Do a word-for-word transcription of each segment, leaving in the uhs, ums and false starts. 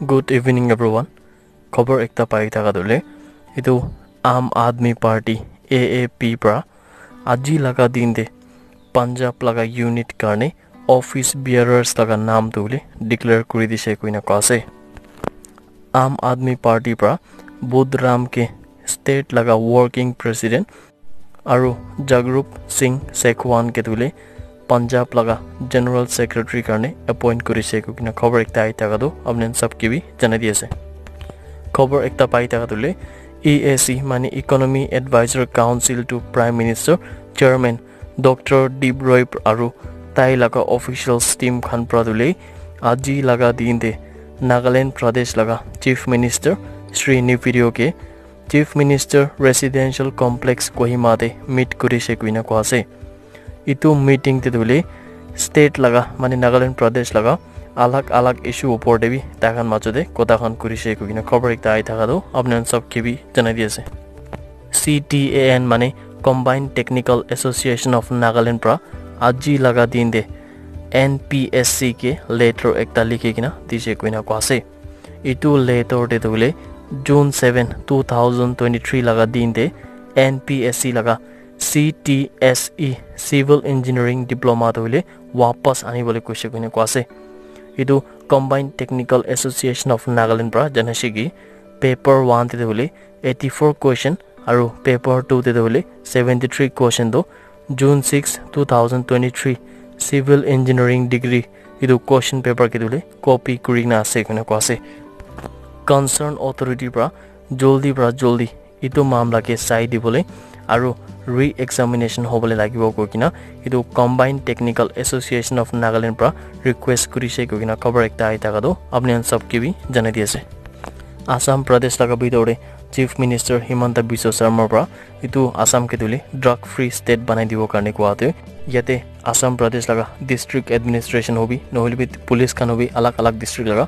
Good evening everyone. Khobor ekta pai thaka tu hoile, etu Aam Aadmi Party, A A P, pra aji laga din te Punjab laga unit karne office bearers laga naam tu hoile declare kuri dise koina koa ase. Aam Aadmi Party pra Budh Ram K, state laga working president, aru Jagrup Singh Sekhwan ke tu hoile Punjab laga general secretary karne appoint kurise koina khobor ekta ahi thaka tu apni khan sab ke bi janai di ase. Khobor ekta pai thaka tu hoile E A C mane Economy Advisor Council to Prime Minister, Chairman Doctor Deep Roy aru tai laga officials team khan pra tu hoile aji laga din te Nagaland Pradesh laga Chief Minister Shri Neiphiu Rio ke Chief Minister Residential Complex Kohima te meet kurise koina koa ase. Etu meeting te tu hoile state laga mane Nagaland Pradesh laga alag alag issue upor te bi tai khan majo te kotha khan kurise koina khobor ekta ahi thaka tu apni khan sab ke bi janai di ase. C T A N mane Combined Technical Association of Nagaland pra aji laga din te N P S C ke letter ekta likhi kena dise koina koa ase. Etu letter te tu hoile June seven, two thousand twenty-three laga din te N P S C laga C T S E Civil Engineering Diploma tu hoile wapas ani bole koise koina koa ase. Etu Combined Technical Association of Nagaland pra janaise ki paper one te tu hoile eighty-four question aru paper two te tu hoile seventy-three question tu June six, two thousand twenty-three Civil Engineering degree etu question paper ke tu hoile copy kuri kena ase koina koa ase. Concern authority pra joldi pra joldi etu mamla ke sai dibole aru re-examination hobole lagibo koi kena etu Combined Technical Association of Nagaland pra request kurise koi kena khobor ekta ahi thaka tu apni khan sab ke bi janai di ase. Assam Pradesh laga bitor te Chief Minister Himanta Biswa Sarma pra etu Assam ke tu hoile drug free state banai dibo karne koa ase. Yate Assam Pradesh laga district administration hobi nohole bi police khan hobi alag alag district laga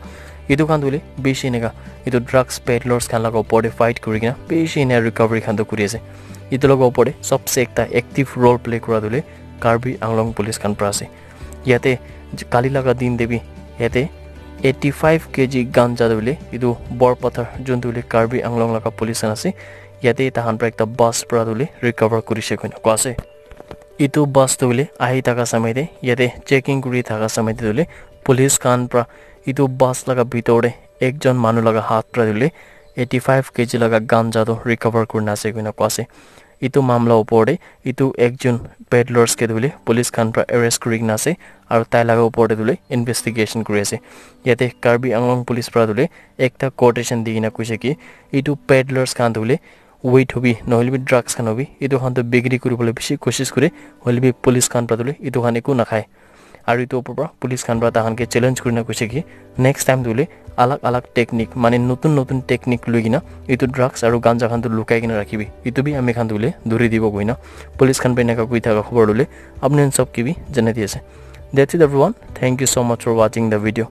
etu khan tu hoile bishi eneka etu drugs peddlers khan laga upor te fight kuri kena bishi ena recovery khan tu kuri ase. Etu laga upor te sabse ekta active role play kura tu hoile Karbi Anglong police khan pra ase. Yate kali laga din te bi yate eighty-five K G ganja tu hoile etu Borpathar jun tu hoile Karbi Anglong laga police khan ase. Yate tai khan pra ekta bus pra tu hoile recover kurise koina koa ase. Etu bus tu hoile ahi thaka samay te yate checking kuri thaka samay te tu hoile police khan pra etu bus laga bitor te ekjon manu laga hath pra tu hoile eighty-five K G laga ganja tu recover kurina ase koina koa ase. Etu mamla upor te etu ekjon peddlers ke tu hoile police khan pra arrest kuri kena ase aru tai laga upor te tu hoile investigation kuri ase. Yate Karbi Anglong police pra tu hoile ekta quotation di kena koise ki etu peddlers khan tu hoile weed hobi nohole bi drugs khan hobi etu khan tu bikri kuri bole bishi koshish kure, hoile bi police khan pra tu hoile etu khan eku nakhai. Aru etu upor pra police khan pra tai khan ke challenge kuri kena koise ki next time tu hoile alag alag technique mane notun notun technique loi kena etu drugs aru ganja khan tu lukai kena rakhibi, etu bi ami khan tu hoile dhuri dibo koina police khan pra eneka koi thaka khobor tu hoile apni khan sab ke bi janai di ase. That's it everyone. Thank you so much for watching the video.